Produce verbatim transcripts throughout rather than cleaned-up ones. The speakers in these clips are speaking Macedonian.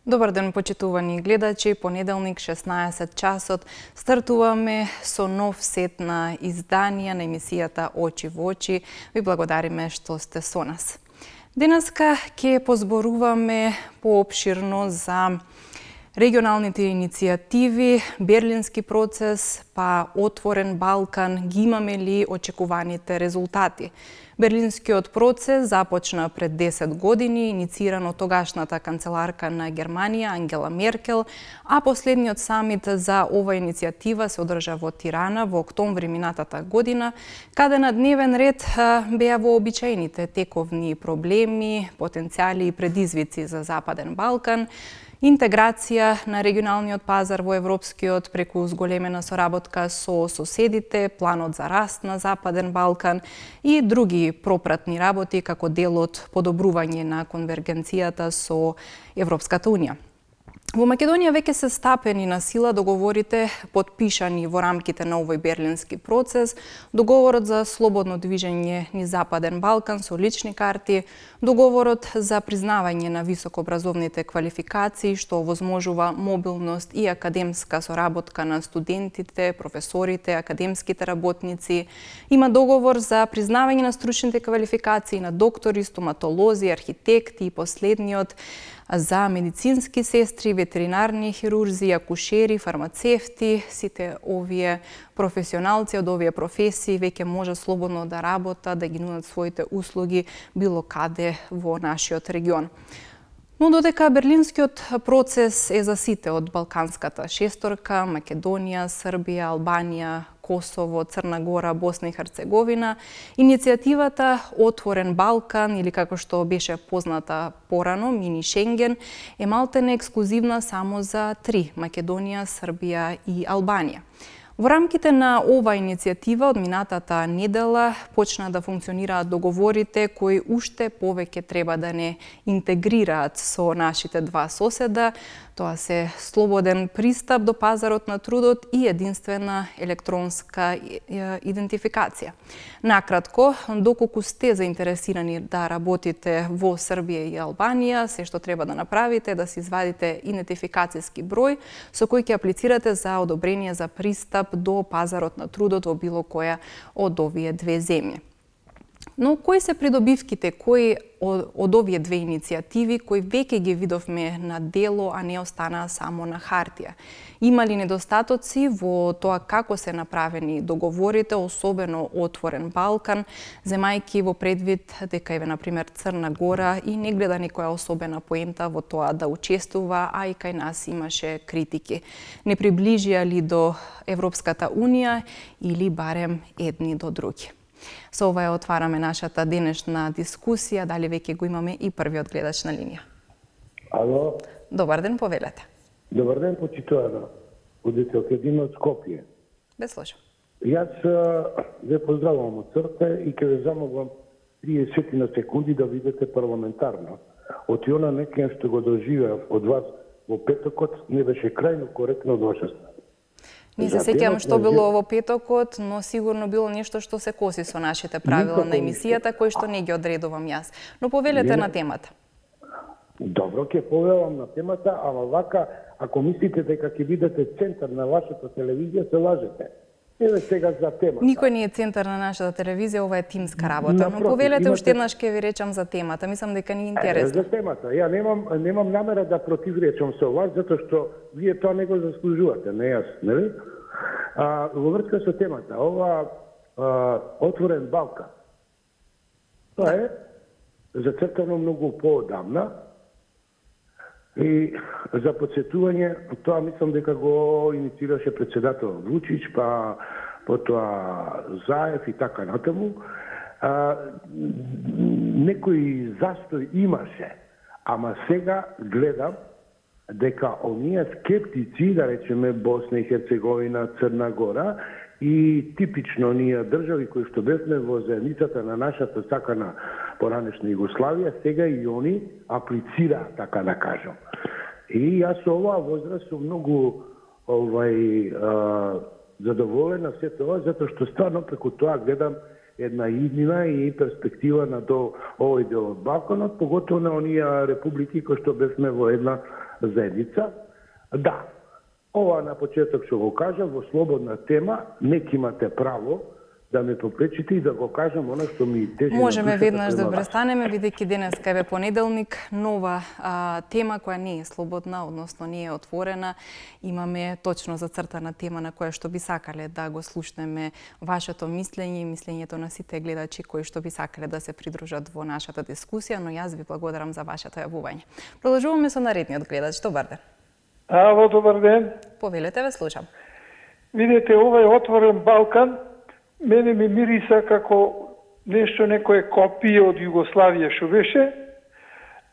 Добар ден, почитувани гледачи. Понеделник, шеснаесет часот, стартуваме со нов сет на изданија на емисијата Очи во очи. Ви благодариме што сте со нас. Денеска ќе позборуваме поопширно за регионалните иницијативи, Берлински процес, па Отворен Балкан, ги имаме ли очекуваните резултати? Берлинскиот процес започна пред десет години, иницииран од тогашната канцеларка на Германија Ангела Меркел, а последниот самит за ова иницијатива се одржа во Тирана во октомври минатата година, каде на дневен ред беа вообичаените тековни проблеми, потенцијали и предизвици за Западен Балкан, интеграција на регионалниот пазар во европскиот преку зголемена соработка со соседите, планот за раст на Западен Балкан и други пропратни работи како дел од подобрување на конвергенцијата со Европската Унија. Во Македонија веќе се стапени на сила договорите потпишани во рамките на овој Берлински процес, договорот за слободно движење низ Западен Балкан со лични карти, договорот за признавање на високообразовните квалификации што овозможува мобилност и академска соработка на студентите, професорите, академските работници, има договор за признавање на стручните квалификации на доктори, стоматолози, архитекти и последниот за медицински сестри, ветеринарни хирурзи, акушери, фармацевти. Сите овие професионалци од овие професии веќе може слободно да работат, да ги нудат своите услуги било каде во нашиот регион. Но додека Берлинскиот процес е за сите од Балканската шесторка, Македонија, Србија, Албанија, Косово, Црна Гора, Босна и Херцеговина, иницијативата Отворен Балкан, или како што беше позната порано, Мини Шенген, е малтене ексклузивна само за три – Македонија, Србија и Албанија. Во рамките на ова иницијатива од минатата недела почна да функционираат договорите кои уште повеќе треба да не интегрираат со нашите два соседа. Тоа се слободен пристап до пазарот на трудот и единствена електронска идентификација. Накратко, доколку сте заинтересирани да работите во Србија и Албанија, се што треба да направите е да се извадите идентификацијски број со кој ќе аплицирате за одобрение за пристап до пазарот на трудот во било која од овие две земји. Но кои се придобивките, кои од, од овие две иницијативи, кои веќе ги видовме на дело, а не останаа само на хартија? Има ли недостатоци во тоа како се направени договорите, особено Отворен Балкан, земајки во предвид дека еве на пример Црна Гора и не гледа некоја особена поента во тоа да учествува, а и кај нас имаше критики. Не приближија ли до Европската Унија или барем едни до други? Со ова ја отвараме нашата денешна дискусија. Дали веќе го имаме и првиот гледач на линија? Ало. Добар ден, повелете. Добар ден, почитувана удителка од Скопје. Без слушам. Јас ве поздравувам од срце и ќе ве замолам триесет на секунди да видите парламентарно. Од она некоја што го доживеав од вас во петокот не беше крајно коректно од ваша страна. Не се сеќавам што било во петокот, но сигурно било нешто што се коси со нашите правила на емисијата, кои што не ги одредувам јас. Но повелете на темата. Добро, ќе повелам на темата, ама вака, ако мислите дека ќе бидете центар на вашата телевизија, се лажете. Еве сега за темата. Никој не е центар на нашата телевизија, ова е тимска работа. Но повелете уште еднаш ќе ви речам за темата. Мислам дека ни е интересно. За темата. Ја немам немам намера да противречам со вас, затоа што вие тоа не го заслужувате, не јас, нели? А, во врска со темата, ова а, Отворен Балкан. Тоа е зацртано многу поодамна и за подсетување, тоа мислам дека го инициираше председател Вучич, па потоа Заев и така натаму. А, некој застој имаше, ама сега гледам дека оние скептици, да речеме Босна и Херцеговина, Црна Гора и типично ние држави кои што бевме во заедницата на нашата сакана поранешна Југославија, сега и они аплицираат, така да кажам. И јас со оваа возраст сум многу овај а, задоволен на се тоа, затоа што стварно преку тоа гледам една иднина и перспектива на до овој дел од Балканот, поготово на оние републики кои што бевме во една заедница. Да, ова на почеток што го кажам, во слободна тема, нек имате право да ме попречите и да го кажам она што ми тежи на душата. Можеме веднаш да престанеме, бидејќи денеска е понеделник, нова а, тема која не е слободна, односно не е отворена. Имаме точно зацртана тема на која што би сакале да го слушнеме вашето мислење и мислењето на сите гледачи кои што би сакале да се придружат во нашата дискусија, но јас ви благодарам за вашето јавување. Продолжуваме со наредниот гледач. Добар ден. Ало, добар ден. Повелете, ве слушам. Видете, овој отворен Балкан мене ми мириса како нешто, некое копие од Југославија што беше,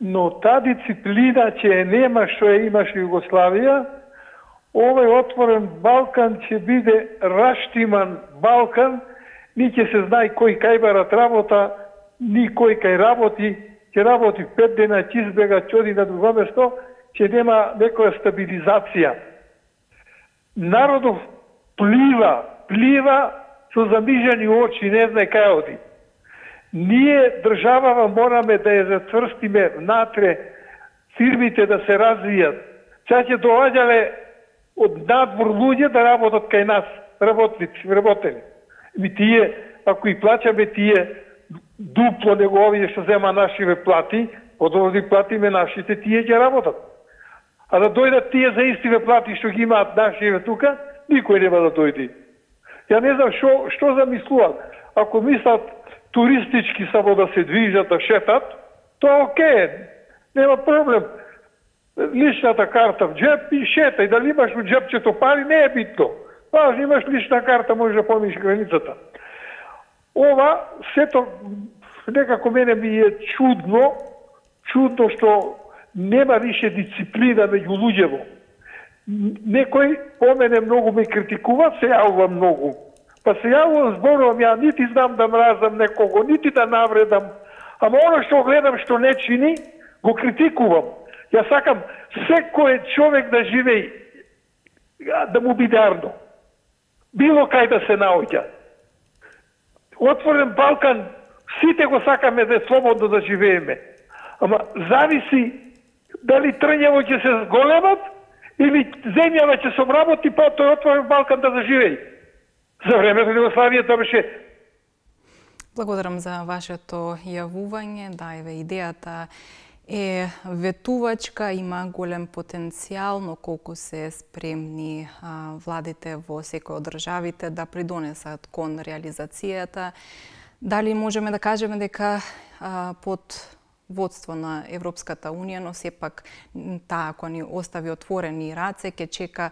но та дисциплина ќе е нема што ја имаше Југославија, овој отворен Балкан ќе биде раштиман Балкан, ни ќе се знае кој кај барат работа, ни кој кај работи, ќе работи пет дена, ќе избега, ќе оди на друго место, ќе нема некоја стабилизација. Народов плива, плива со замижани очи, не знае кај оди. Ние, државава, мораме да ја затврстиме внатре, фирмите да се развијат. Сега ќе доаѓале од надвор луѓе да работат кај нас, работници, работени. Ми тие, ако и плачаме тие дупло него овие што зема нашиве плати, подобро да платиме нашите, тие ќе работат. А да дојдат тие за истиве плати што ги имаат нашиве тука, никој нема да дојде. Ја не знам што што замислуваат. Ако мислат туристички само да се движат, да шетат, тоа окей, нема проблем. Личната карта в джеп и шетај, дали имаш во джепчето пари, не е битно. Важно, имаш лична карта, можеш да поминеш границата. Ова, сето, некако мене ми е чудно, чудно што нема више дисциплина меѓу луѓево. Некој по мене многу ме критикува, се јавува многу. Па се јавувам, зборувам, ја нити знам да мразам некого, нити да навредам. Ама оно што гледам што не чини, го критикувам. Ја сакам секој човек да живее, да му биде арно. Било кај да се наоѓа. Отворен Балкан, сите го сакаме да е слободно да живееме. Ама зависи дали трњево ќе се зголемат, или земјава ќе се обработи, па тој отворен Балкан да заживеи. За времето на Југославија тоа беше. Благодарам за вашето јавување. Да, еве идејата е ветувачка, има голем потенцијал, но колку се спремни а, владите во секој од државите да придонесат кон реализацијата. Дали можеме да кажеме дека а, под водство на Европската Унија, но сепак таа, ако ни остави отворени раце, ќе чека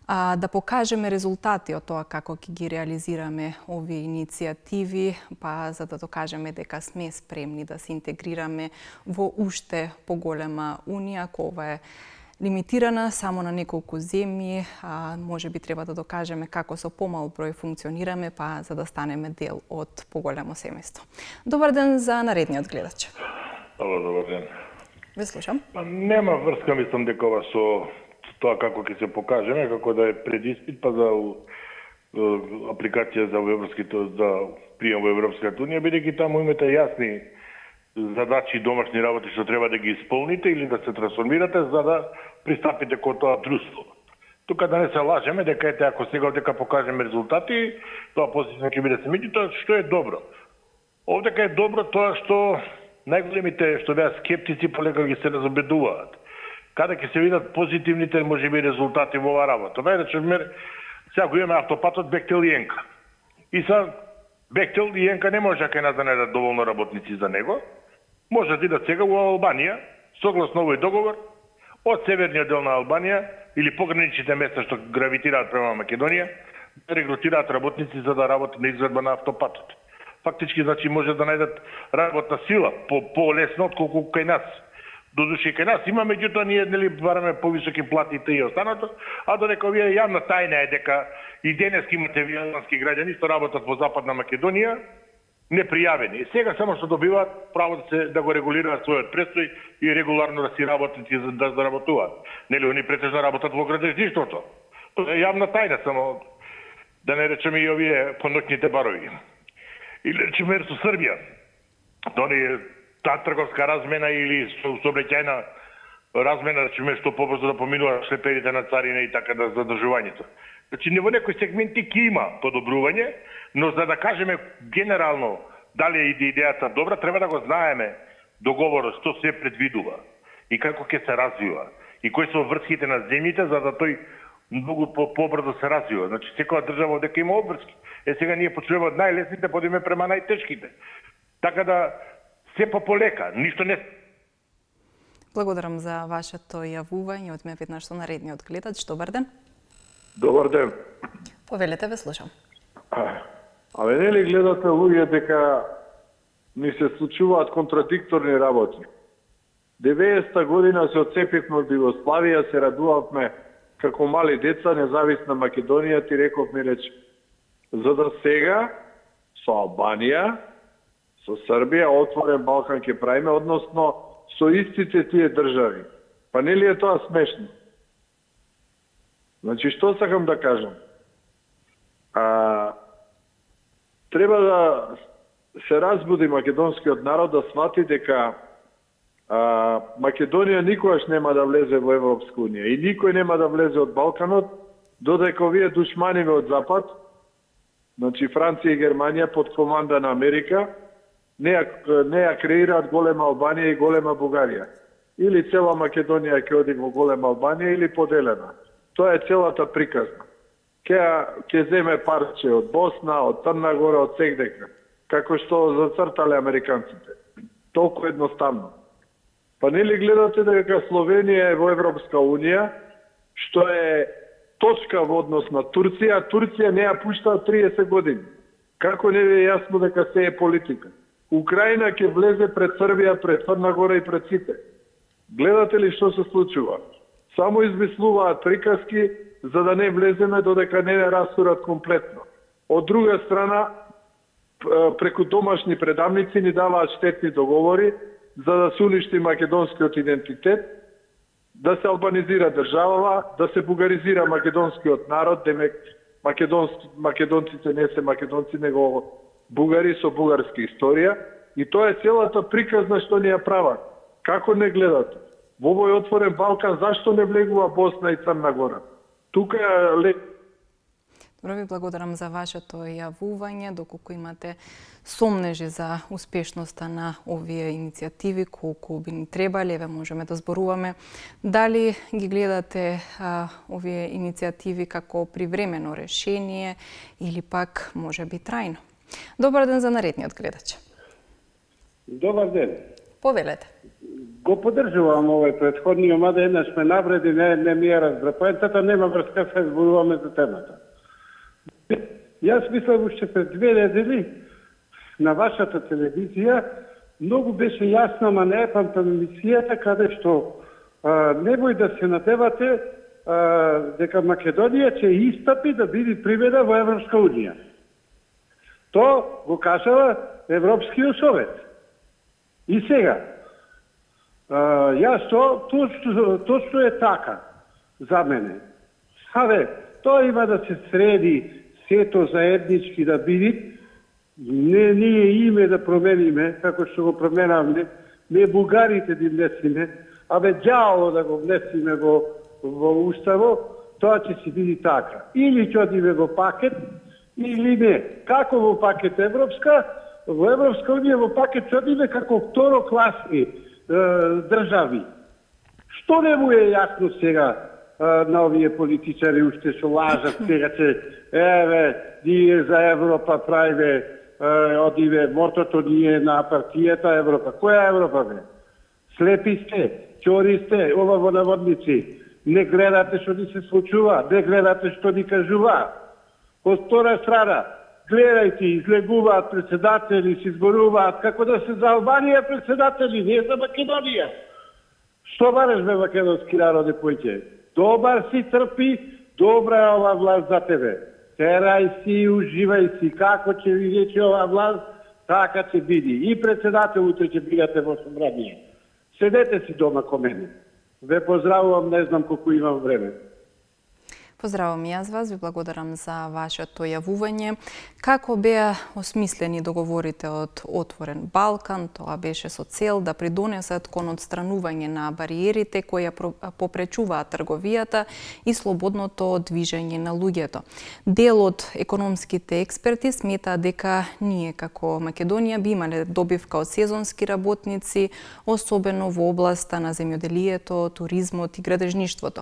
а, да покажеме резултати од тоа како ќе ги реализираме овие иницијативи, па за да докажеме дека сме спремни да се интегрираме во уште поголема Унија, ако ова е лимитирана само на неколку земји, а може би треба да докажеме како со помал број функционираме, па за да станеме дел од поголемо семејство. Добар ден за наредниот гледач. Ало, добар ден. Ве слушам. Па, нема врска, мислам, дека ова со тоа како ќе се покажеме, како да е предиспит, па за апликација за европските, за прием во Европската Унија, бидејќи таму имате јасни задачи и домашни работи што треба да ги исполните или да се трансформирате за да пристапите кон тоа друштво. Тука да не се лажеме дека ете ако сега дека покажеме резултати, тоа позитивно ќе биде семејството, што е добро. Овдека е добро тоа што најголемите што беа скептици полека ги се разобедуваат. Каде ќе се видат позитивните можеби резултати во оваа работа. Најречеме, сега го имаме автопатот Бехтел и Енка. И са Бехтел и Енка не може кај нас да најдат доволно работници за него. Може да идат сега во Албанија, согласно овој договор, од северниот дел на Албанија или пограничните места што гравитираат према Македонија, да регрутираат работници за да работат на изведба на автопатот. Фактички, значи, може да најдат работна сила по по-лесно отколку кај нас. Додуше кај нас има, меѓутоа ние нели бараме повисоки плати и останато, а додека овие јавна тајна е дека и денеска имате албански граѓани што работат во Западна Македонија непријавени. Сега само што добиваат право да се да го регулираат својот престој и регуларно да си работат и да заработуваат. Нели они претежно работат во градежништвото. Тоа е јавна тајна, само да не речеме и овие поноќните барови. Или речеме со Србија, дали таа трговска размена или сообраќајна размена, речеме, што побрзо да поминуваат шлеперите на царина и така да задржувањето. Значи, не во некои сегменти ќе има подобрување, но за да кажеме генерално дали е идејата добра, треба да го знаеме договорот што се предвидува и како ќе се развива и кои се врските на земјите за да тој многу побрзо се развива. Значи, секоја држава дека има обврски. Е, сега ние почнеме од најлесните, подиме према најтешките. Така да, се по полека, ништо не... Благодарам за вашето јавување. Одме веднаш со наредниот гледач. Добар ден. Добар ден. Повелете, ве слушам. А, абе, нели гледате луѓе дека ни се случуваат контрадикторни работи? деветдесета година се отцепивме од Југославија, се радувавме како мали деца, независна Македонија, ти рековме реч, за да сега со Албанија, со Србија, отворен Балкан ќе правиме, односно со истите тие држави. Па нели е тоа смешно? Значи, што сакам да кажам? А, треба да се разбуди македонскиот народ да свати дека а, Македонија никогаш нема да влезе во Европска унија и никој нема да влезе од Балканот, додека овие душманиве од Запад, значи Франција и Германија под команда на Америка, не ја, не ја креираат голема Албанија и голема Бугарија. Или цела Македонија ќе оди во голема Албанија или поделена. Тоа е целата приказна. Ке, ке земе парче од Босна, од Црна Гора, од сегдека, како што зацртале американците. Толку едноставно. Па нели гледате дека Словенија е во Европска унија, што е точка во однос на Турција, а Турција не ја пушта триесет години. Како не ви е јасно дека се е политика? Украина ќе влезе пред Србија, пред Црна Гора и пред сите. Гледате ли што се случува? Само измислуваат приказки за да не влеземе додека не не растурат комплетно. Од друга страна, преку домашни предавници ни даваат штетни договори за да се уништи македонскиот идентитет, да се албанизира државава, да се бугаризира македонскиот народ, демек македонски, македонците не се македонци, него бугари со бугарска историја, и тоа е целата приказна што ни ја прават. Како не гледате? Во овој отворен Балкан зашто не влегува Босна и Црна Гора? Тука е... Добро, ви благодарам за вашето јавување, доколку имате сомнежи за успешноста на овие иницијативи, колку би ни требале, еве можеме да зборуваме. Дали ги гледате а, овие иницијативи како привремено решение или пак може би трајно? Добар ден за наредниот гледач. Добар ден. Повелете. Го поддржувам овој претходниот, мада еднаш ме навреди, не, не ми ја разбра. Поентата нема врска, се зборуваме за темата. Јас мислам уште пред две недели на вашата телевизија многу беше јасна, ама не е памтам емисијата, каде што а, немој да се надевате а, дека Македонија ќе истапи да биде приведа во Европска унија. То го кажава Европскиот совет. И сега, а, јас то, точно, точно е така за мене. Абе, тоа има да се среди сето заеднички да биде, не ние име да промениме, како што го променавме, не бугарите да внесиме, абе ѓаво да го внесиме во, во уставо, тоа ќе се биде така. Или ќе одиме во пакет, или не. Како во пакет Европска? Во Европска унија во пакет ќе одиме како второкласни е, држави. Што не му е јасно сега на овие политичари уште што лажат сега че еве ние за Европа правиме одиве мотото ние на партијата Европа. Која Европа бе? Слепи сте, чори сте, ова во наводници. Не гледате што ни се случува, не гледате што ни кажува. Од втора страна, гледајте, излегуваат председатели, се изборуваат како да се за Албанија председатели, не за Македонија. Што бараш бе македонски народе појќе? Добар си, трпи, добра е ова власт за тебе. Терај си, уживај си, како ќе ви рече ова власт, така ќе биде. И председател утре ќе бидете во собрание. Седете си дома ко мене. Ве поздравувам, не знам колку имам време. Поздравам и јас вас, ви благодарам за вашето јавување. Како беа осмислени договорите од Отворен Балкан? Тоа беше со цел да придонесат кон отстранување на бариерите кои ја попречуваат трговијата и слободното движење на луѓето. Дел од економските експерти сметаат дека ние како Македонија би имале добивка од сезонски работници, особено во областа на земјоделието, туризмот и градежништвото.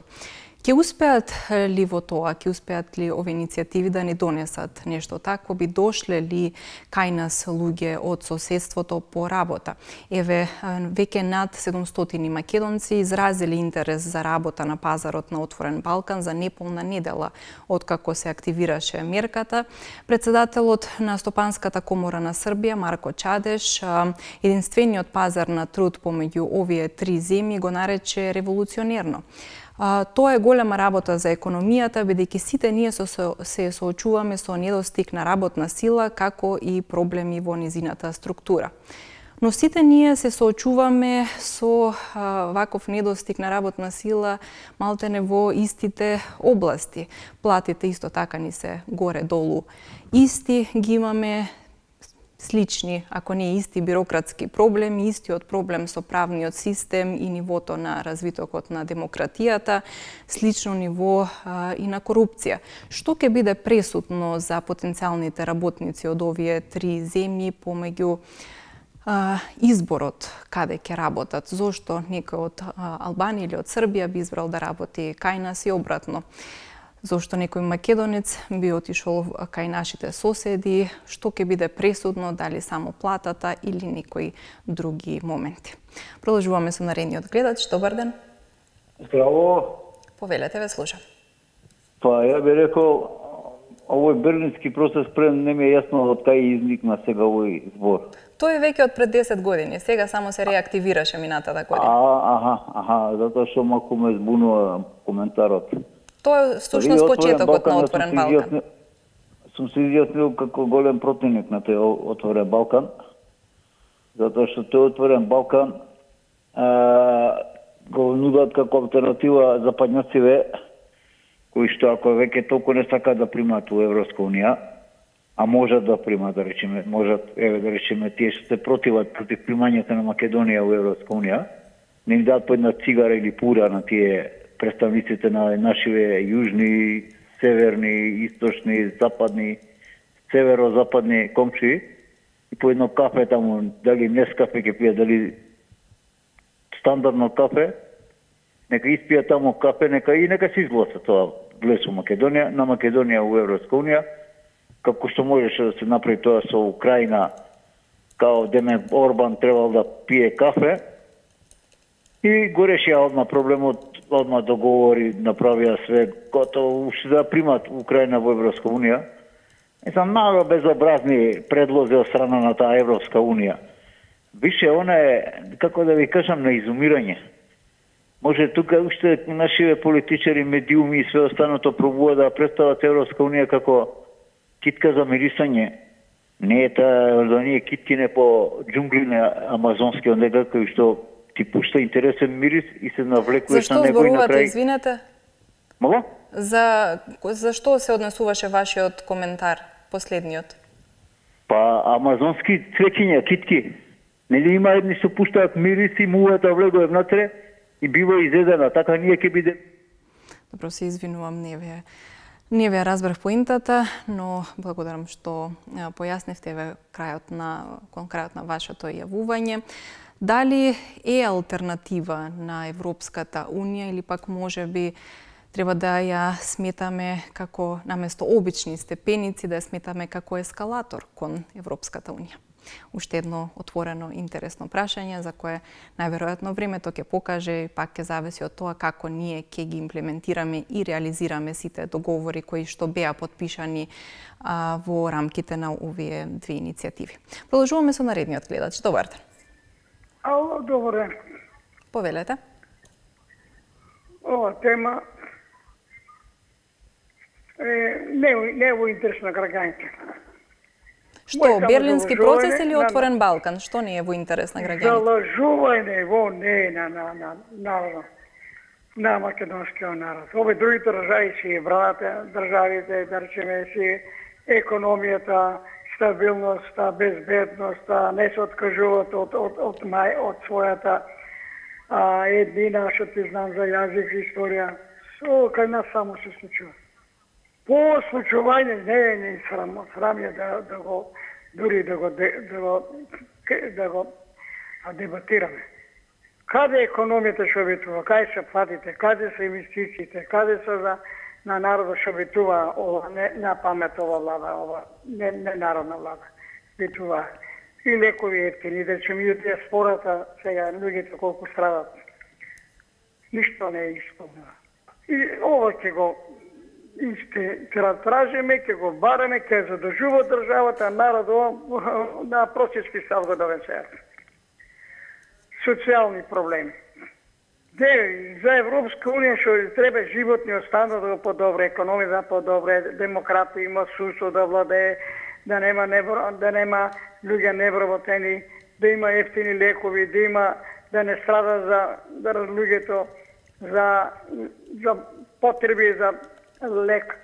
Ќе успеат ли во тоа, ќе успеат ли овие иницијативи да ни донесат нешто такво, би дошле ли кај нас луѓе од соседството по работа? Еве, веќе над седумстотини македонци изразили интерес за работа на пазарот на Отворен Балкан за неполна недела откако се активираше мерката. Председателот на Стопанската комора на Србија, Марко Чадеш, единствениот пазар на труд помеѓу овие три земји го нарече револуционерно. Тоа е голема работа за економијата, бидејќи сите ние се соочуваме со недостиг на работна сила, како и проблеми во низината структура. Но сите ние се соочуваме со ваков недостиг на работна сила малтене во истите области. Платите исто така ни се горе-долу исти, ги имаме слични, ако не исти бирократски проблеми, истиот проблем со правниот систем и нивото на развитокот на демократијата, слично ниво а, и на корупција. Што ќе биде пресудно за потенцијалните работници од овие три земји помеѓу а, изборот каде ќе работат? Зошто некој од а, Албанија или од Србија би избрал да работи кај нас и обратно? Зошто некој македонец би отишол кај нашите соседи, што ќе биде пресудно, дали само платата или некои други моменти. Продолжуваме со наредниот гледач. Добар ден. Здраво. Повелете, ве слушам. Па, ја би рекол, овој берлински процес пред не ми е јасно од кај изникна сега овој збор. Тој е веќе од пред десет години, сега само се реактивираше минатата година. А, аха, аха, затоа што малку ме збунува коментарот. Тоа е всушност почетокот на Отворен Балкан. Сум се изјаснил како голем противник на тој Отворен Балкан, затоа што тој Отворен Балкан а, го нудат како алтернатива западњаците, кои што ако веќе толку не сакаат да примат во Европска унија, а можат да примат, да речеме, можат, еве да речеме, тие што се противат против примањето на Македонија во Европска унија, не им дадат по една цигара или пура на тие представниците на нашиве јужни, северни, источни, западни, северо-западни комши и по едно кафе таму, дали Нескафе ќе пијат, дали стандардно кафе, нека испијат таму кафе, нека и нека се изгласа тоа влез во Македонија, на Македонија во Европска унија, како што можеше да се направи тоа со Украина, као Деме Орбан требал да пие кафе, и го решија одма проблемот, одма договори, направија све, готово уште да примат Украина во Европска унија. И са мало безобразни предлози од страна на таа Европска унија. Више, она е, како да ви кажам, на изумирање. Може тука уште нашиве политичари, медиуми и све останато пробува да представат Европска унија како китка за мирисање. Не е таа, да ние киткине по џунглине амазонски, онде кој што ти пушта интересен мирис и се навлекуваш на него и на крај. Зашто зборувате, извинете? Мало? За, за што се однесуваше вашиот коментар, последниот? Па, амазонски цвеќиња, китки. Нели има едни што пуштаат мирис и мувата влегува внатре и бива изедена. Така ние ќе биде... Добро, се извинувам, не ве, не ве разбрав поинтата, но благодарам што појаснивте ве крајот на, кон крајот на вашето јавување. Дали е алтернатива на Европската унија или пак може би треба да ја сметаме како наместо обични степеници, да ја сметаме како ескалатор кон Европската унија? Уште едно отворено интересно прашање за кое најверојатно времето ќе покаже и пак ќе зависи од тоа како ние ќе ги имплементираме и реализираме сите договори кои што беа подпишани а, во рамките на овие две иницијативи. Продолжуваме со наредниот гледач. Добар ден. Ало, добар ден. Повелете. Ова тема е не, не е во интерес на граѓаните. Што, Берлински процес или Отворен на... Балкан? Што не е во интерес на граѓаните? Залажување во не на на на народот. на македонскиот народ. Овие други држави си браната, државите, да речеме си економијата, стабилноста, безбедноста, не се откажуваат од, од, од, мај, од својата а, еднина, што ти знам за јазик, историја. Со, кај нас само се случува. По случување не е ни срам, срам е да, да го, дури да го, да го, да го дебатираме. Каде економијата што ветува, каде се платите, каде се инвестициите, каде се за на народот што ветува ова, не на памет ова влада, ова не, не народна влада. Ветува и лекови ефтини, да речем и од диаспората, сега луѓето колку страдат. Ништо не е исполнено. И ова ќе го ќе тражиме, ќе го бараме, ќе задржува државата, народот на просечки став го довесе. Социјални проблеми. Де, за Европска унија што треба животниот стандард да го подобре, економија да подобре, демократија има судство да владее, да нема невро, да нема луѓе невработени, да има ефтини лекови, да има да не страда за да луѓето за за потреби за лек,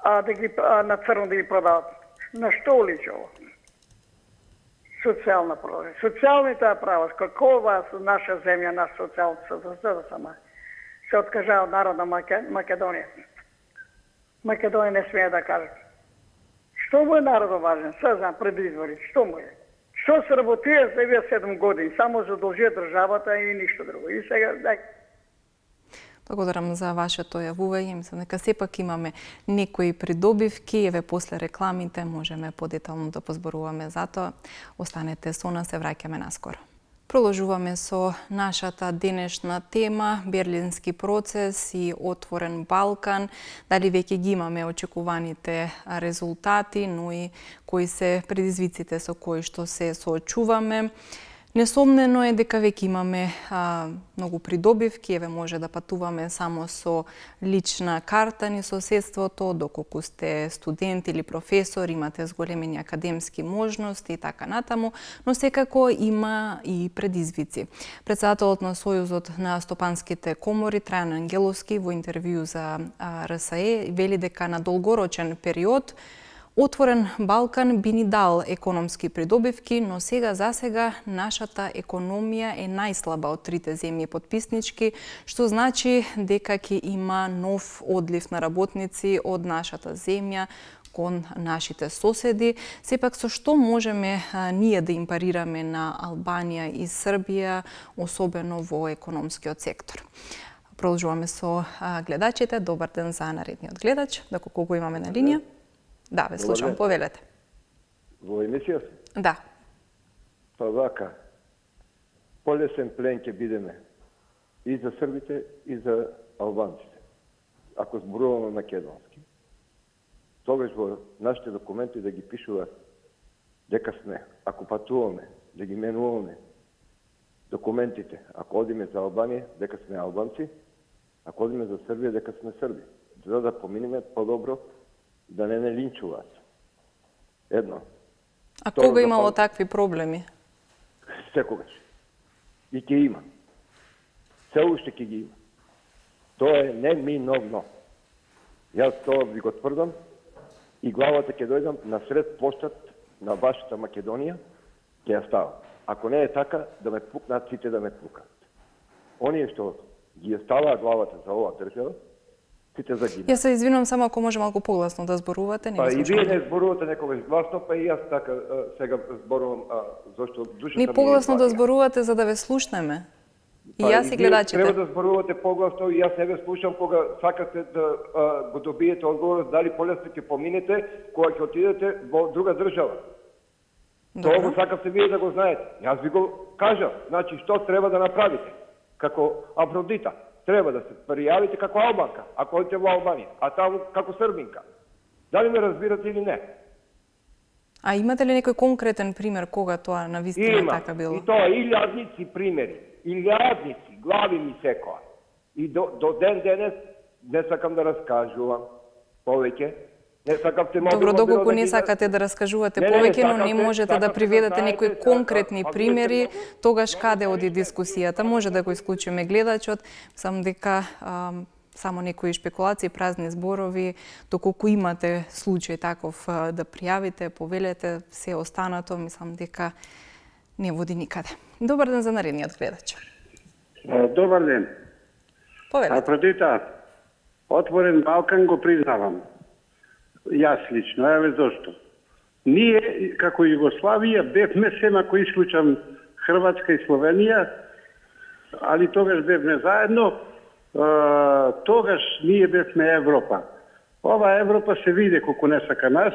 а да ги а, на црно да ги продават. На што личи ова? Социјална права. Социјалните права, какова наша земја, наша социјална за сама, се откажа од народна Македонија. Македонија не смее да каже. Што му е народот важен? Се знам, пред избори. Што му е? Што се работија за овие седум години? Само задолжија државата и ништо друго. И сега, дај. Благодарам за вашето јавување. Мислам дека сепак имаме некои придобивки, еве после рекламите можеме подетално да позборуваме за тоа. Останете со нас, се враќаме наскоро. Продолжуваме со нашата денешна тема, Берлински процес и отворен Балкан. Дали веќе ги имаме очекуваните резултати, но и кои се предизвиците со кои што се соочуваме. Несомнено е дека веќе имаме а, многу придобивки, еве може да патуваме само со лична карта ни соседството, доколку сте студент или професор, имате зголемени академски можности и така натаму, но секако има и предизвици. Председателот на Сојузот на стопанските комори, Трајан Ангеловски, во интервју за а, Р С Е, вели дека на долгорочен период отворен Балкан би ни дал економски придобивки, но сега за сега нашата економија е најслаба од трите земји потписнички, што значи дека ќе има нов одлив на работници од нашата земја кон нашите соседи. Сепак со што можеме а, ние да им парираме на Албанија и Србија, особено во економскиот сектор? Продолжуваме со а, гледачите. Добар ден за наредниот гледач. Доколку го имаме на линија? Да, ве слушам, повелете. Во емисија? Да. Па вака, полесен плен ќе бидеме и за србите, и за албанците. Ако зборуваме македонски, тогаш во нашите документи да ги пишува дека сме, ако патуваме, да ги менуваме документите, ако одиме за Албанија, дека сме албанци, ако одиме за Србија, дека сме срби. За да поминеме по-добро, да не не линчуваат. Едно. А Второ, кога имало да, такви проблеми? Секогаш. И ќе има. Се уште ќе ги има. Тоа е неминовно. Јас тоа ви го тврдам и главата ќе дојдам на сред площад на вашата Македонија, ќе ја ставам. Ако не е така, да ме пукнат сите да ме пукнат. Оние што ги ставаа главата за оваа држава, сите загинат. Јас се извинувам, само ако може малку погласно да зборувате. Не па и вие не зборувате некогаш гласно, па и јас така сега зборувам, а, зашто душата ми е... Ни погласно да зборувате за да ве слушнеме. И јас и гледачите. Треба да зборувате погласно и јас не ве слушам кога сакате да а, го добиете одговор дали полесно ќе поминете кога ќе отидете во друга држава. Тоа го сакате вие да го знаете. Јас ви го кажам, значи што треба да направите како Афродита. Треба да се пријавите како албанка, ако одите во Албанија, а таму како србинка. Дали ме разбирате или не? А имате ли некој конкретен пример кога тоа навистина така било? И тоа илјадници примери, илјадници, глави ми секоја. И до, до ден денес не сакам да раскажувам повеќе, Не сакавте Добро, доколку не сакате да раскажувате повеќе, но не можете да приведете некои конкретни примери, тогаш каде оди дискусијата? Може да го исклучиме гледачот, сам дека само некои шпекулации, празни зборови, доколку имате случај таков да пријавите, повелете, се останато, мислам дека не води никаде. Добар ден за наредниот гледач. Добар ден. Повелете. А преди тоа, Отворен Балкан го признавам. Јас лично, еве зошто. Ние, како Југославија, бевме сема кои случам Хрватска и Словенија, али тогаш бевме заедно, тогаш ние бевме Европа. Ова Европа се види колку не сака нас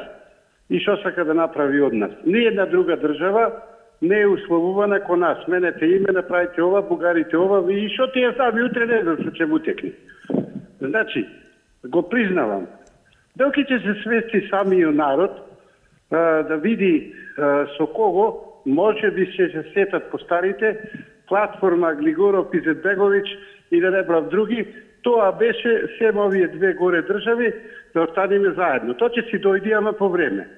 и што сака да направи од нас. Ниједна друга држава не е условувана ко нас. Менете име, направите ова, бугарите ова, и што ти ја сами утре не знам што ќе му текне. Значи, го признавам. Докато ќе се свести самиот народ да види со кого може би ќе се сетат по старите, платформа Глигоров и Зетбегович и да не брав други, тоа беше сем овие две горе држави да останеме заедно. Тоа ќе си дојде, ама по време.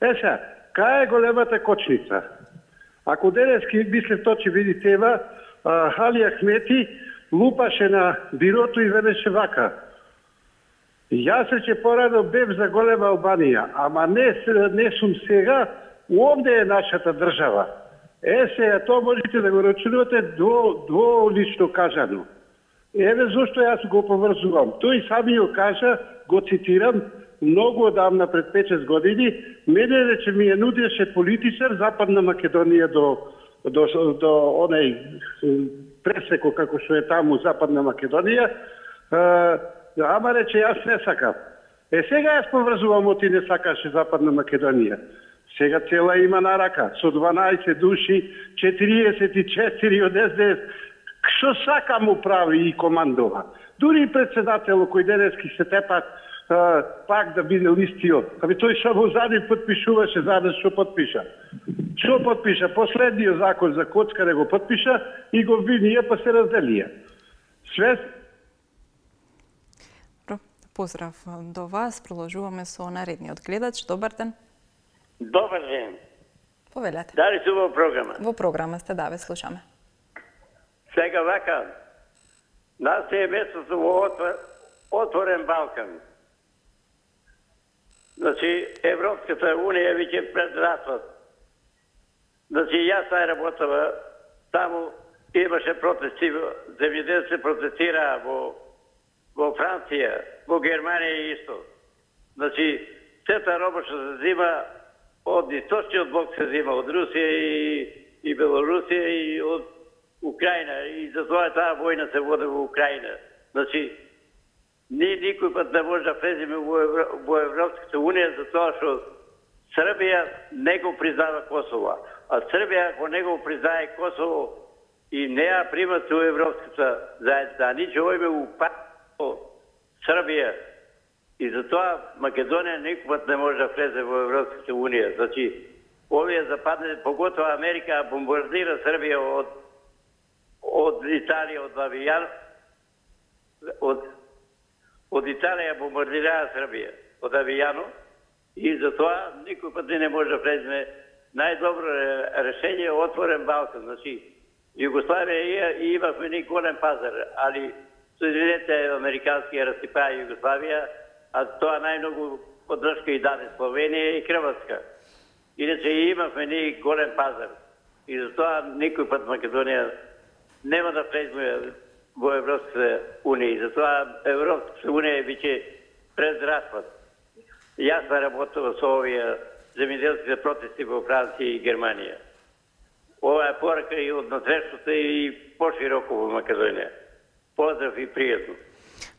Е сега, кај е големата кочница? Ако денески мислев тоа ќе види тева, Али Ахмети лупаше на бирото и велеше вака: јас рече порано бев за голема Албанија, ама не, не сум сега, овде е нашата држава. Е, сега, тоа можете да го рачунувате до, до лично кажано. Еве зашто јас го поврзувам. Тој самиот кажа, го цитирам, многу одамна пред пет-шест години, мене рече ми ја нудеше политичар Западна Македонија до, до, до онај пресеко како што е таму Западна Македонија, ама рече јас не сакам. Е, сега јас поврзувам, оти не сакаше Западна Македонија. Сега цела има на рака, со дванаесет души, четириесет и четири од Ес Де Ес. Што сака му прави и командова. Дури и председателот кој денески се тепат а, пак да биде листиот. Аби тој само задни подпишуваше, заден што подпиша. Што подпиша? Последниот закон за коцкаре го подпиша и го винија, па се разделија. Све. Поздрав до вас. Продолжуваме со наредниот гледач. Добар ден. Добар ден. Повелете. Дали сте во програма? Во програма сте, да, ве слушаме. Сега вака, нас е местото во Отворен Балкан. Значи, Европската Унија веќе пред ратот. Значи, јас тај работава, таму имаше протести, земјоделци протестираа во, во Франција, во Германија исто. Значи, сета роба што се зима од источниот блок се зима, од Русија и, и Белорусија и од Украина, и затоа таа војна се води во Украина. Значи, ние никој пат не може да влеземе во, Евро, во Европската Унија затоа што Србија не го признава Косово. А Србија, ако не го признае Косово и не ја примат во Европската заедница, ние ќе ојме у пакто Србија. И затоа Македонија никој пат не може да влезе во Европската Унија. Значи, овие западни, поготоа Америка, бомбардира Србија од од Италија, од Авијан, од, од Италија бомбардираа Србија, од Авијано, и затоа никој пат не може да влеземе. Најдобро решение е Отворен Балкан. Значи, Југославија и имавме ни голем пазар, али Соединените Американски ја разсипаа Југославија, а тоа најмногу поддршка и даде Словенија и Хрватска. Иначе имавме ни голем пазар. И затоа никој пат Македонија нема да влеземе во Европската Унија. Затоа Европската Унија веќе пред распад. Јас работувам со овие земјоделските протести во Франција и Германија. Ова е порака и од насрештата и пошироко во Македонија. Поздрав и пријатно.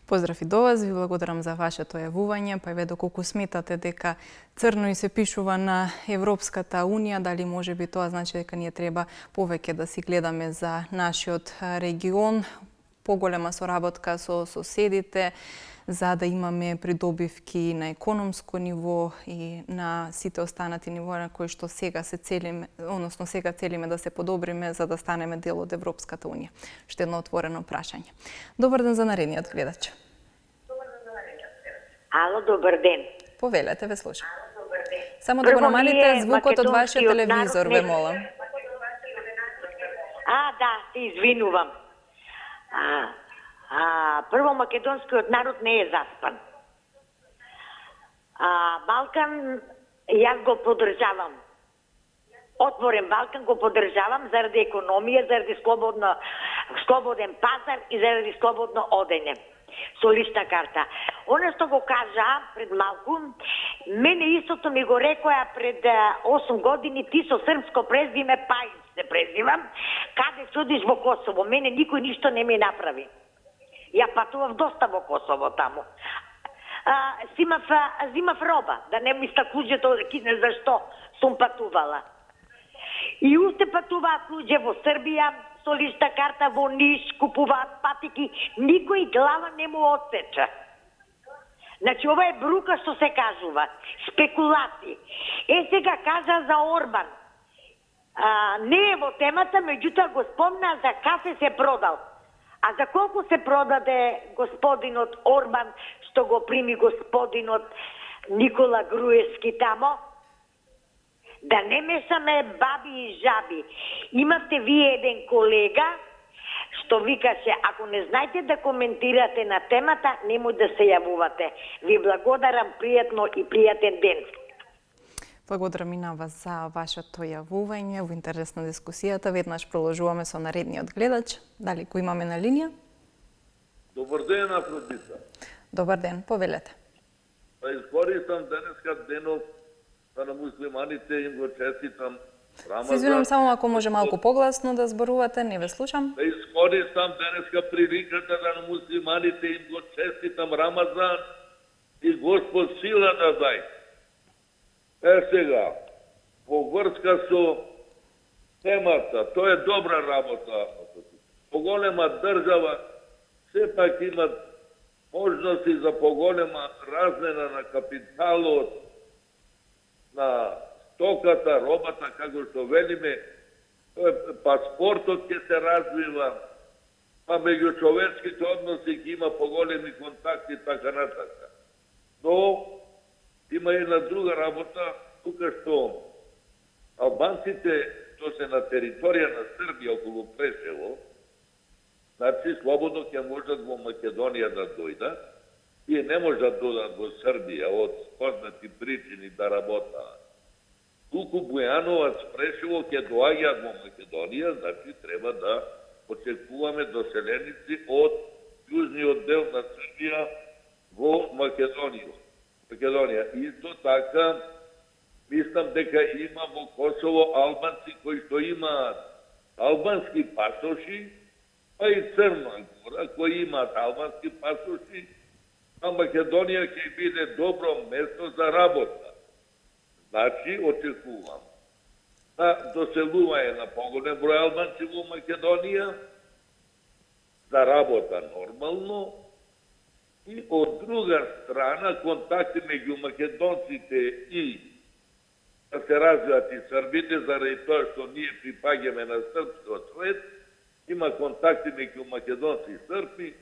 Поздрав и до вас, ви благодарам за вашето јавување, па еве доколку сметате дека црно и се пишува на Европската Унија, дали може би тоа значи дека ние треба повеќе да си гледаме за нашиот регион, поголема соработка со соседите, за да имаме придобивки на економско ниво и на сите останати нивоа на кои што сега се целиме, односно сега целиме да се подобриме за да станеме дел од Европската Унија. Што едно отворено прашање. Добар ден за наредниот гледач. Ало, добар ден. Повелете, ве слушам. Само да го намалите звукот од вашиот телевизор, ве молам. А, да, се извинувам. А, а, прво, македонскиот народ не е заспан. А, Балкан, јас го поддржавам. Отворен Балкан го поддржавам заради економија, заради слободно, слободен пазар и заради слободно одење. Со лична карта. Оно што го кажа пред малку, мене истото ми го рекоја пред осум години, ти со српско презвиме Пајч се презвивам, каде судиш во Косово. Мене никој ништо не ми направи. Ја патував доста во Косово таму. А, зимав, зимав роба, да не ми стаклуѓето кине зашто сум патувала. И уште патуваат луѓе во Србија, со лична карта во Ниш, купуваат патики, никој глава не му отсеча. Значи, ова е брука што се кажува, спекулации. Е, сега кажа за Орбан. А, не е во темата, меѓутоа го спомна за кафе се продал. А за колку се продаде господинот Орбан, што го прими господинот Никола Груевски тамо? Да не мешаме баби и жаби. Имавте вие еден колега што викаше, ако не знаете да коментирате на темата, немој да се јавувате. Ви благодарам, пријатно и пријатен ден. Благодарам и на вас за вашето јавување во интерес на дискусијата. Веднаш продолжуваме со наредниот гледач. Дали го имаме на линија? Добар ден, Афродита. Добар ден, повелете. Па искористам денеска денот да на муслиманите им го честитам Рамазан. Се извинувам, само ако може малку погласно да зборувате, не ве слушам. Да искористам денеска приликата да на муслиманите им го честитам Рамазан и Господ сила да дај. Е сега, по врска со темата, тоа е добра работа. Поголема држава сепак има можности за поголема размена на капиталот, на стоката, робата, како што велиме, паспортот ќе се развива, па меѓу човечките односи ќе има поголеми контакти, така натака. Но има и на друга работа, тука што албанците, што се на територија на Србија околу Прешево, значи слободно ќе можат во Македонија да дојдат, тие не може да додат во Србија од познати причини да работаат. Туку Бујановац, Прешево ќе доаѓаат во Македонија, значи треба да очекуваме доселеници од јужниот дел на Србија во Македонија. Македонија. Исто така, мислам дека има во Косово албанци кои што имаат албански пасоши, па и Црна Гора кои имаат албански пасоши, а Македонија ќе биде добро место за работа. Значи, очекувам да доселување на поголем број албанци во Македонија, за работа нормално, и од друга страна контакти меѓу македонците и да се развиват и србите, заради тоа што ние припаѓаме на српскиот свет, има контакти меѓу македонци и српи.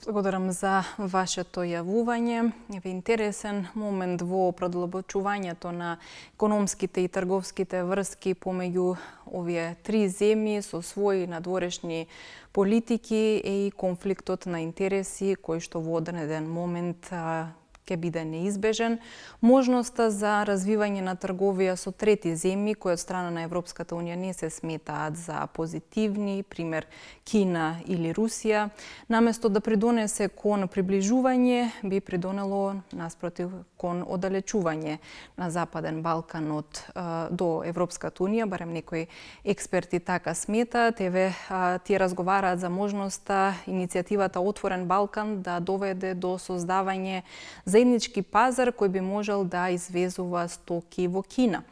Благодарам за вашето јавување. Еве интересен момент во продлабочувањето на економските и трговските врски помеѓу овие три земји со своји надворешни политики е и конфликтот на интереси кој што во одреден момент ќе биде неизбежен. Можноста за развивање на трговија со трети земји кои од страна на Европската унија не се сметаат за позитивни, пример Кина или Русија, наместо да придонесе кон приближување, би придонело наспротив кон оддалечување на Западен Балкан од до Европската унија, барем некои експерти така сметаат. Еве тие разговараат за можноста иницијативата Отворен Балкан да доведе до создавање заеднички пазар кој би можел да извезува стоки во Кина.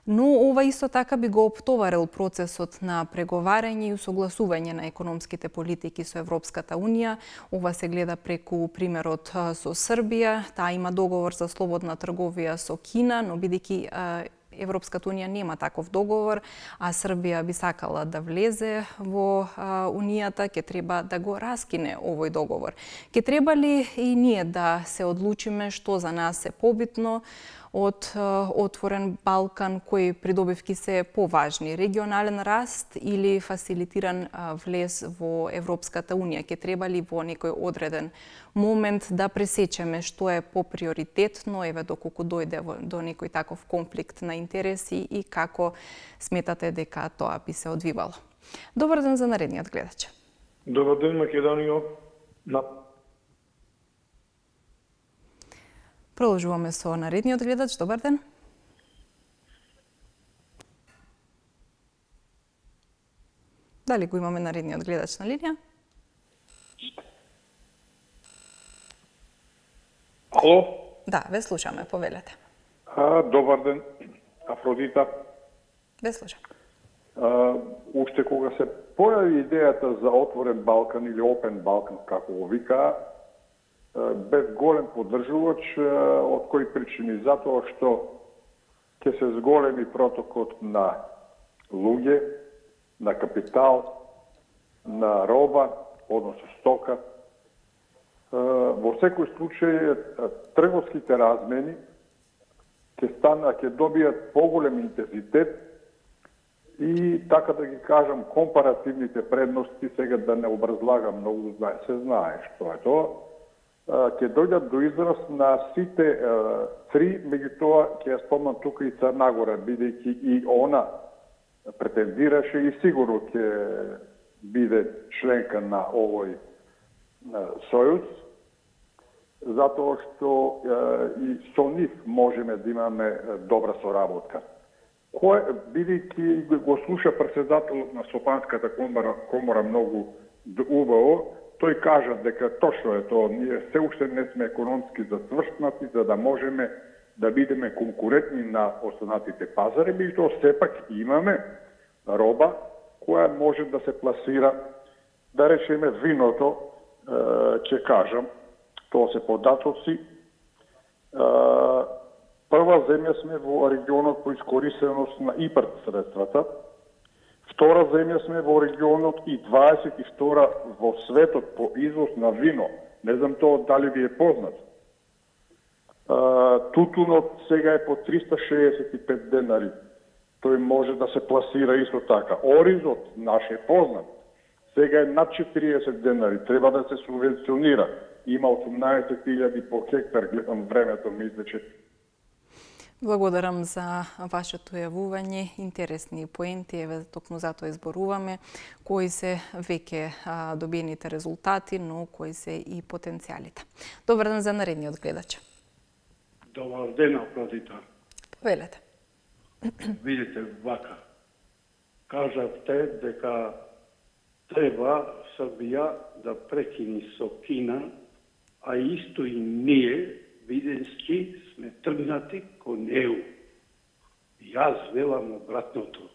Но ова исто така би го оптоварил процесот на преговарање и усогласување на економските политики со Европската унија. Ова се гледа преку примерот со Србија. Таа има договор за слободна трговија со Кина, но бидејќи Европската унија нема таков договор, а Србија би сакала да влезе во а, унијата, ќе треба да го раскине овој договор. Ќе треба ли и ние да се одлучиме што за нас е побитно од а, отворен Балкан, кои придобивки се поважни, регионален раст или фасилитиран а, влез во Европската унија? Ќе треба ли во некој одреден момент да пресечеме што е поприоритетно, еве доколку дојде до некој таков конфликт на интереси и како сметате дека тоа би се одвивало? Добар ден за наредниот гледач. Добар ден, Македонија. На... Продолжуваме со наредниот гледач. Добар ден. Дали го имаме наредниот гледач на линија? Ало? Да, ве слушаме, повелете. А, добар ден, Афродита. Ве слушам. А, уште кога се појави идејата за отворен Балкан или Open Балкан, како го вика, бев голем поддржувач, од кои причини? Затоа што ќе се зголеми протокот на луѓе, на капитал, на роба, односно стока. Во секој случај трговските размени ќе стана, ќе добијат поголем интензитет и така да ги кажам компаративните предности, сега да не образлагам многу, се знае што е тоа, ќе дојдат до израз на сите три, меѓутоа ќе ја спомнам тука и Црна Гора, бидејќи и она претендираше и сигурно ќе биде членка на овој сојуз, затоа што и со нив можеме да имаме добра соработка. Кој, бидејќи го слуша председателот на Сопанската комора, комора многу убаво, тој кажа дека точно е тоа, ние се уште не сме економски засвршнати за да можеме да бидеме конкурентни на останатите пазари, меѓутоа сепак имаме роба која може да се пласира, да речеме виното, ќе кажам, тоа се податоци. Прва земја сме во регионот по искористеност на ИПАРД средствата, втора земја сме во регионот и дваесет и втора во светот по извоз на вино. Не знам тоа дали ви е познат. Тутунот сега е по триста шеесет и пет денари. Тој може да се пласира исто така. Оризот наш е познат. Сега е над четириесет денари. Треба да се субвенционира. Има осумнаесет илјади по хектар, гледам времето, мисля, че... Благодарам за вашето јавување, интересни поенти, еве токму затоа изборуваме кои се веќе добиените резултати, но кои се и потенцијалите. Добар ден за наредниот гледач. Добар ден, Афродита. Повелете. Видите, вака, кажавте дека треба Србија да прекини со Кина, а исто и ние, виденски, сме тргнати кон Е У. Јас велам обратното,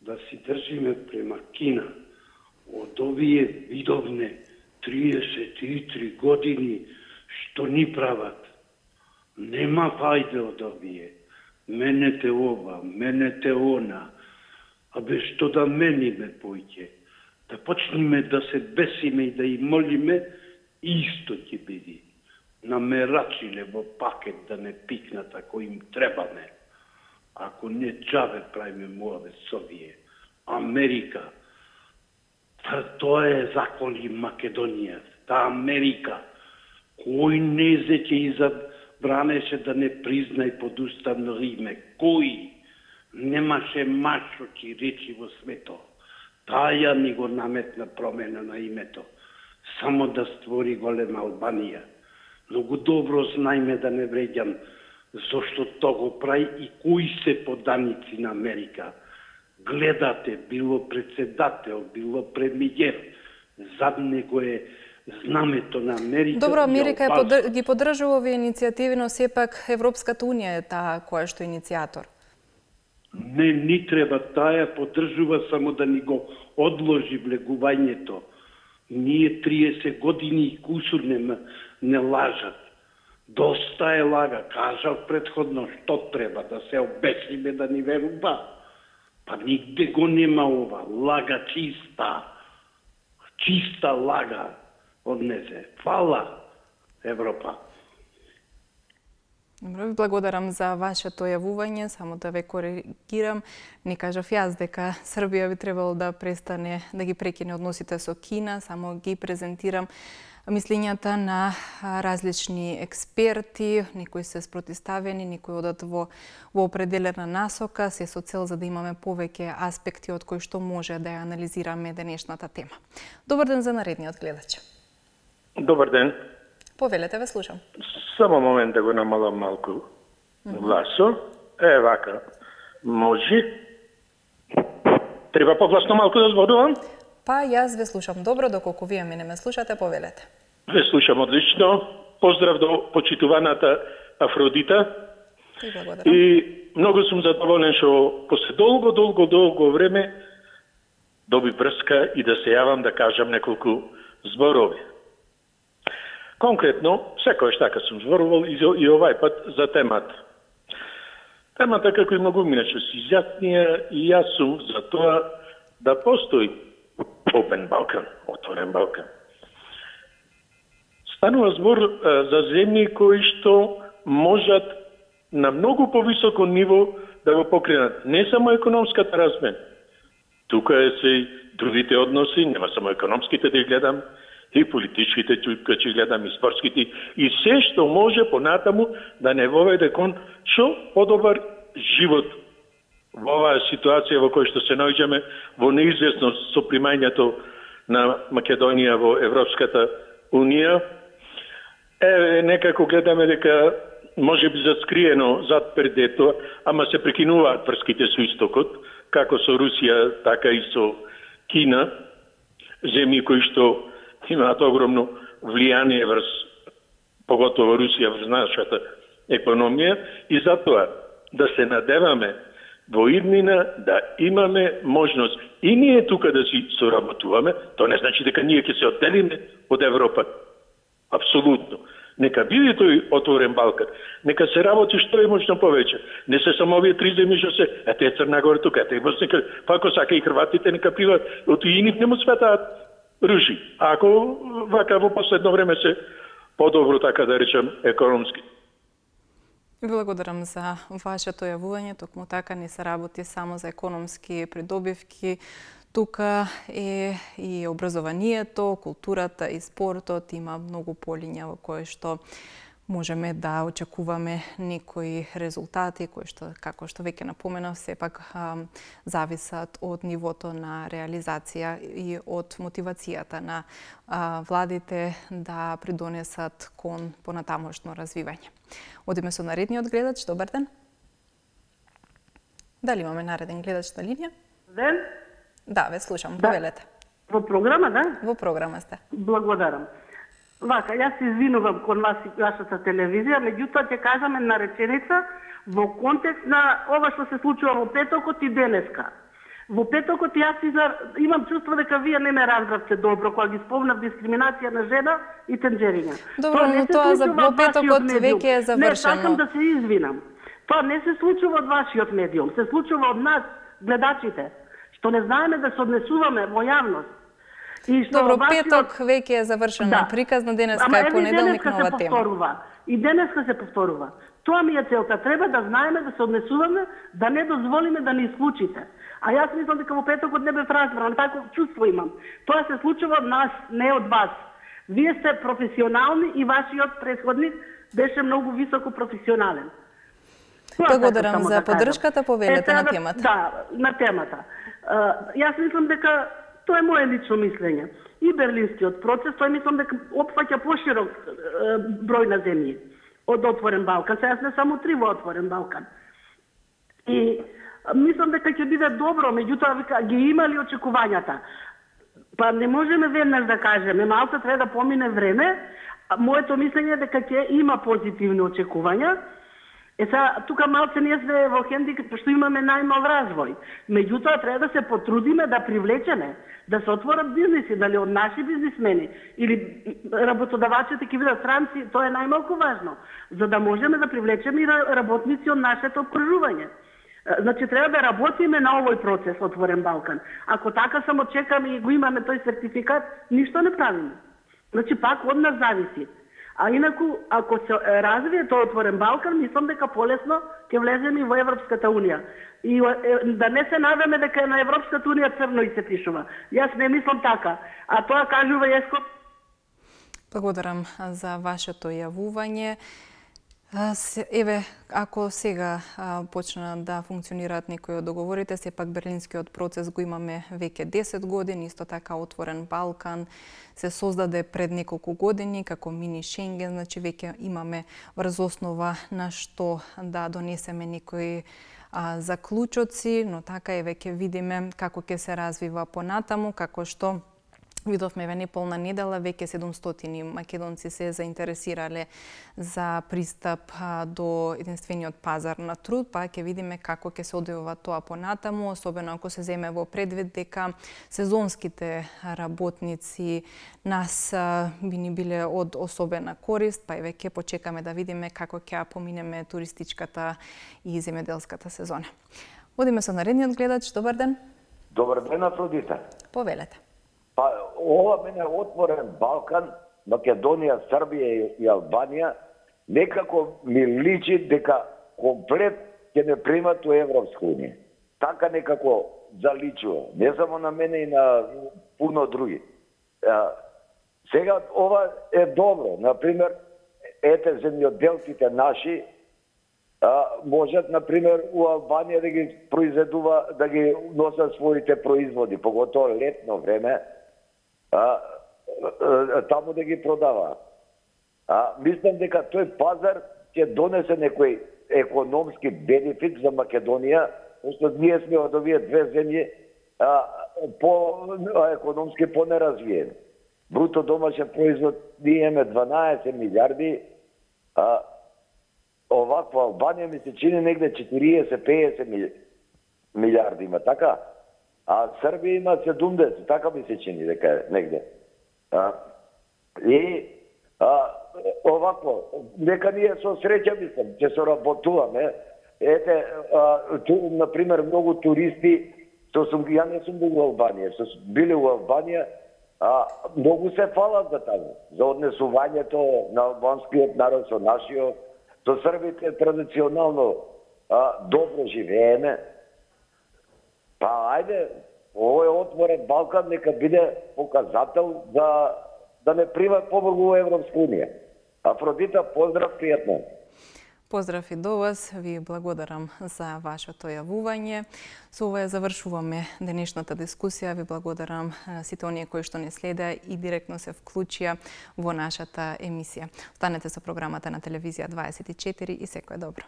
да си држиме према Кина. Од овие видовне триесет и три години што ни прават. Нема фајде од овие. Менете ова, менете она. Абе што да мениме појќе? Да почниме да се бесиме и да и молиме, исто ќе биде. Намерачиле во пакет да не пикнат ако им требаме. Ако не джаве правиме муаве со овие. Америка, тоа е заколи Македонија. Та Америка, кој не зеќе и забранеше да не признај под устав на Риме? Кој? Немаше мачочи речи во свето. Таја ни го наметна промена на името. Само да створи голема Албанија. Многу добро знаеме да не вреѓам зошто тоа го прави и кои се поданици на Америка. Гледате, било председател, било премиер, зад него е знамето на Америка. Добро, Америка е подр... ги поддржува овие иницијативи, но сепак Европската унија е таа која што е иницијатор. Не ни треба, таа поддржува само да ни го одложи влегувањето. Ние триесет години и кусур не, не лажат. Доста е лага. Кажав предходно што треба да се обесниме да ни верува. Па нигде го нема ова. Лага чиста. Чиста лага однесе. Фала, Европа. Добро, ви благодарам за вашето јавување, само да ве коригирам. Не кажав јас дека Србија би требало да престане да ги прекине односите со Кина, само ги презентирам мислењата на различни експерти, некои се спротивставени, некои одат во, во определена насока, се со цел за да имаме повеќе аспекти од кои што може да ја анализираме денешната тема. Добар ден за наредниот гледач. Добар ден. Повелете, ве слушам. Само момент да го намалам малку гласо. Е, вака. Може? Треба погласно малку да зборувам? Па, јас ве слушам добро, доколку вие мене ме слушате, повелете. Ве слушам одлично. Поздрав до почитуваната Афродита. И благодарам. И многу сум задоволен што после долго, долго, долго време доби врска и да се јавам да кажам неколку зборови. Конкретно, секојаш така сум зборувал и, и овај пат за темата. Темата, како и многу миначе, се изјаснија и јас сум за тоа да постои Open Balkan, отворен Балкан. Станува збор а, за земји кои што можат на многу повисоко ниво да го покренат не само економската размена. Тука е се и другите односи, нема само економските да ги гледам, и политичките, тука ќе гледам и спортските, и се што може понатаму да не воведе кон што подобар живот во оваа ситуација во која што се наоѓаме во неизвестност со примањето на Македонија во Европската Унија. Е, некако гледаме дека може би заскриено зад пердето, ама се прекинуваат врските со истокот, како со Русија, така и со Кина, земји кои што имаат огромно влијание врз, поготово Русија врз нашата економија, и затоа да се надеваме во иднина да имаме можност и ние тука да си соработуваме. Тоа не значи дека ние ќе се одделиме од Европа. Апсолутно. Нека биде тој отворен Балкан. Нека се работи што е можно повеќе. Не се само овие три земји што се, ете е Црна Гора тука, ете е Босна, па ако сака и Хрватите нека пиват, од и нив не му светаат ружи. А ако вака во последно време се подобро, така да речем, економски. Благодарам за вашето јавување. Токму така не се работи само за економски придобивки. Тука е и образованието, културата и спортот. Има многу полиња во кои што можеме да очекуваме некои резултати, кои што, како што веќе напоменав, сепак а, зависат од нивото на реализација и од мотивацијата на а, владите да придонесат кон понатамошно развивање. Одиме со наредниот гледач. Добар ден. Дали имаме нареден гледач на линија? Ден. Да, ве слушам. Да. Повелете. Во програма, да? Во програма сте. Благодарам. Вака, јас се извинувам кон вас и вашата телевизија, меѓутоа ќе кажаме на реченица во контекст на ова што се случува во петокот и денеска. Во петокот јас изар... имам чувство дека вие не ме разбравте добро кога ги спомнав дискриминација на жена и тенџериња. Добро, но тоа за во петокот веќе е завршено. Не, сакам да се извинам. Тоа не се случува од вашиот медиум, се случува од нас, гледачите, што не знаеме да се однесуваме во јавност. Добро, вашиот... петок веќе е завршено, да. Приказна, денеска Ама, е понеделник, нова се тема. Повторува. И денеска се повторува. Тоа ми е целта. Треба да знаеме да се однесуваме, да не дозволиме да ни исклучите. А јас мислам дека во петокот не бев разбран, тако чувство имам. Тоа се случува од нас, не од вас. Вие сте професионални и вашиот претходник беше многу високо професионален. Благодарам за да поддршката, повелете на темата. Да, на темата. Uh, јас мислам дека тоа е моје лично мислење. И берлинскиот процес, тој мислам дека опфаќа поширок uh, број на земји од отворен Балкан. Сега сме само три во отворен Балкан. И мислам дека ќе биде добро, меѓутоа ги имали очекувањата. Па не можеме веднаш да кажеме, малку треба да помине време. Моето мислење е дека ќе има позитивни очекувања. Е са, тука малце ние сме во хендикап што имаме најмал развој. Меѓутоа треба да се потрудиме да привлечеме, да се отворат бизниси, дали од наши бизнисмени или работодавачите ќе бидат странци, тоа е најмалку важно, за да можеме да привлечеме и работници од нашето окружување. Значи треба да работиме на овој процес Отворен Балкан. Ако така само чекаме и го имаме тој сертификат, ништо не правиме. Значи пак од нас зависи. А инаку, ако се развие тоа Отворен Балкан, мислам дека полесно ќе влеземе и во Европската Унија. И да не се надаме дека на Европската Унија црно и се пишува. Јас не мислам така. А тоа кажува Еско. Благодарам за вашето јавување. Еве, ако сега почнат да функционираат некои од договорите, сепак берлинскиот процес го имаме веќе десет години, исто така Отворен Балкан се создаде пред неколку години како мини Шенген, значи веќе имаме врз основа на што да донесеме некои а, заклучоци, но така е веќе видиме како ќе се развива понатаму, како што видовме еве неполна недела, веќе седумстотини македонци се заинтересирале за пристап до единствениот пазар на труд, па ќе видиме како ќе се одвива тоа понатаму, особено ако се земе во предвид дека сезонските работници нас би ни биле од особена корист, па еве ќе почекаме да видиме како ќе поминеме туристичката и земјоделската сезона. Одиме со наредниот гледач. Добар ден. Добар ден, Афродита. Повелете. Па, ова мене Отворен Балкан, Македонија, Србија и Албанија, некако ми личи дека комплет ќе не примат у Европска Унија. Така некако заличува. Не само на мене и на пуно други. А, сега ова е добро. Например, ете земјоделците наши а, можат, например, у Албанија да ги произведува, да ги носат своите производи, поготово летно време, А, а, таму да ги продава. А, мислам дека тој пазар ќе донесе некој економски бенефит за Македонија, пошто ние сме од овие две земји а, по а, економски понеразвиени. Бруто домашен производ ние имаме дванаесет милиарди, а оваква Албанија ми се чини негде четириесет до пеесет милиарди има, така? А Србија има седумдесет, така ми се чини дека е негде. А, и а, овако, нека ние со среќа мислам, ќе се работуваме. Ете, а, ту, например, многу туристи, што сум, ја не сум бил во Албанија, што сум били во Албанија, а, многу се фалат за таму, за однесувањето на албанскиот народ со нашиот, со србите традиционално а, добро живееме. Па, ајде, овој Отворен Балкан нека биде показател за да не примат побргу во Европска Унија. Афродита, поздрав, пријатно. Поздрав и до вас, ви благодарам за вашето јавување. Со ова завршуваме денешната дискусија. Ви благодарам сите оние кои што не следеа и директно се вклучија во нашата емисија. Останете со програмата на телевизија дваесет и четири и секое добро.